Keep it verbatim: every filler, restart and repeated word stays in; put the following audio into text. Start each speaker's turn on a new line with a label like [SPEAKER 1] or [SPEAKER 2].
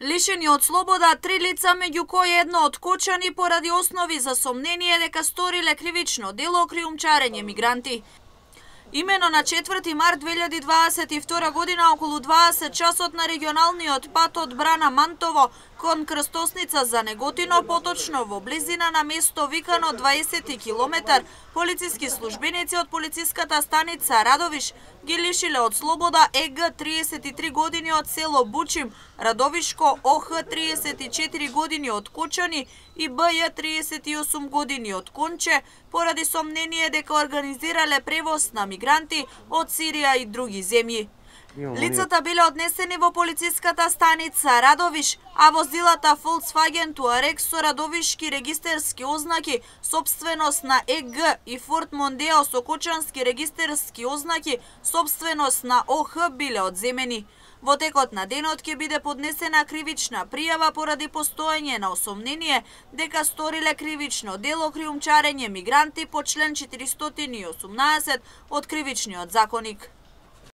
[SPEAKER 1] Лишени од слобода три лица, меѓу кои едно откочани поради основи за сомнение дека сториле кривично дело криумчарење мигранти. Имено на четврти март две илјади дваесет и втора година околу дваесет часот на регионалниот пат од Брана Мантово кон крстосница за Неготино, поточно во близина на место викано дваесети километар, полициски службеници од полициската станица Радовиш ги лишиле од слобода ЕГ триесет и три години од село Бучим, Радовишко ОХ триесет и четири години од Кочани и БЈ триесет и осум години од Конче, поради сомнение дека организирале превоз на мигранти од Сирија и други земји. Лицата биле однесени во полициската станица Радовиш, а возилата Volkswagen Touareg со радовишки регистерски ознаки, собственост на ЕГ, и Ford Mondeo со кочански регистерски ознаки, собственост на ОХ, биле одземени. Во текот на денот ќе биде поднесена кривична пријава поради постоење на осомнение дека сториле кривично дело криумчарење мигранти по член четиристотини и осумнаесет од Кривичниот законик.